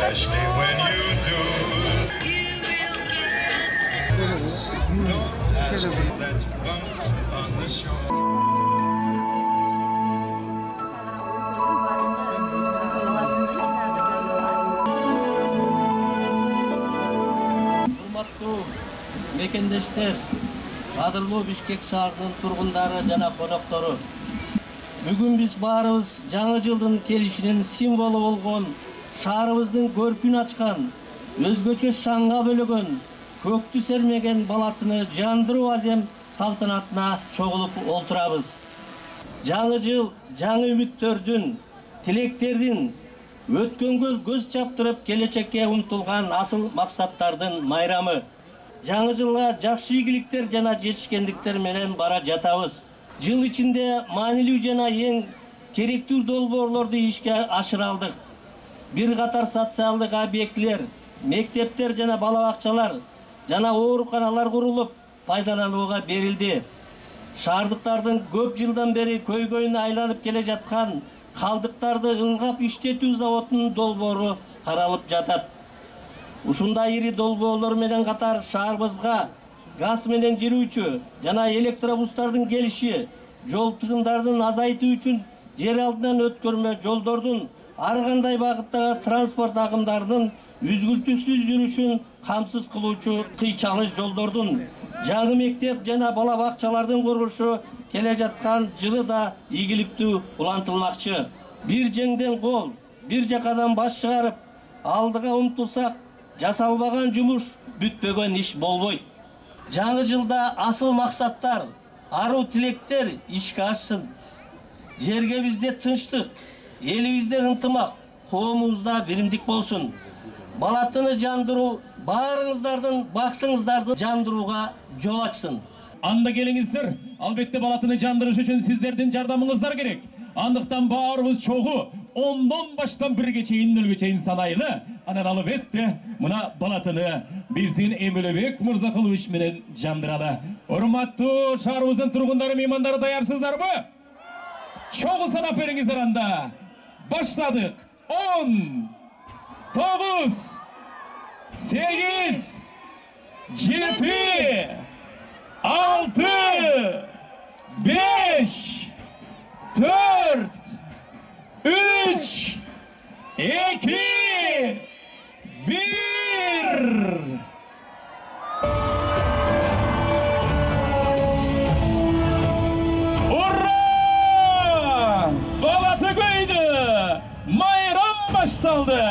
especially when you do. Don't ask me, let's bump on the shore. Мекендештер, кадырлуу Бишкек шаарынын тургундары жана коноктору. Бүгүн биз баарыбыз жаңы жылдын келишинин символу болгон шаарыбыздын көркүн ачкан, өзгөчө шаңга бөлөгөн, көктү сермеген балатыны жандыруу азем салтанатына чогулуп олтурабыз. Жаңы жыл жаңы үмүттөрдүн, тилектердин, өткөнгө көз чаптырып келечекке умтулган асыл максаттардын майрамы. Жаңы жылга жакшы ийгиликтер жана жетишкендиктер менен бара жатабыз. Жыл ичинде маанилүү жана эң керектүү долбоорлорду ишке ашыра алдык. Бир катар социалдык объектилер, мектептер жана бала бакчалар жана ооруканалар курулуп, пайдаланууга берилди. Шаардыктардын көп жылдан бери көйгөйүнө айланып келе жаткан калдыктарды ылгап иштетүү заводунун долбоору каралып жатат. Ушундай ири долбоорлор менен катар шаарыбызга газ менен жүрүүчү жана электробустардын келиши, жол тыгындарын азайтуу үчүн жер алдынан өткөрмө жолдордун, ар кандай багыттагы транспорт агымдарынын үзгүлтүксүз жүрүшүн камсыз кылуучу кыйчалыш жолдордун, жаңы мектеп жана бала бакчалардын курулушу келе жаткан жылы да ийгиликтүү улантылмакчы. Бир жеңден кол, бир жакадан баш чыгарып, алдыга умтулсак, жасалбаган жумуш, бүтпөгөн иш болбойт. Жаңы жылда асыл максаттар, аруу тилектер ишке ашсын. Жерге бизде тынчтык, элибизде ынтымак, коомубузда биримдик болсун. Балатыны жандыруу баарыңыздардын бактыңыздарды жандырууга жол ачсын. Анда келиңиздер, албетте балатыны жандырыш үчүн сиздердин жардамыңыздар керек. Андыктан баарыбыз чогуу 10дон баштан 1ге чейин 0ге чейин санайлы. Анан албетте мына балатыны биздин Эмелебек Мырзакулович менен жандыралы. Урматтуу шаарыбыздын тургундары, меймандары даярсыздарбы? Чогуу санап бериңиздер анда. Баштадык. 10, 9, 8, 7, 6, 5, 4, 3, 2, 1. Ура! Балаты көйдü! Майрам başlandı!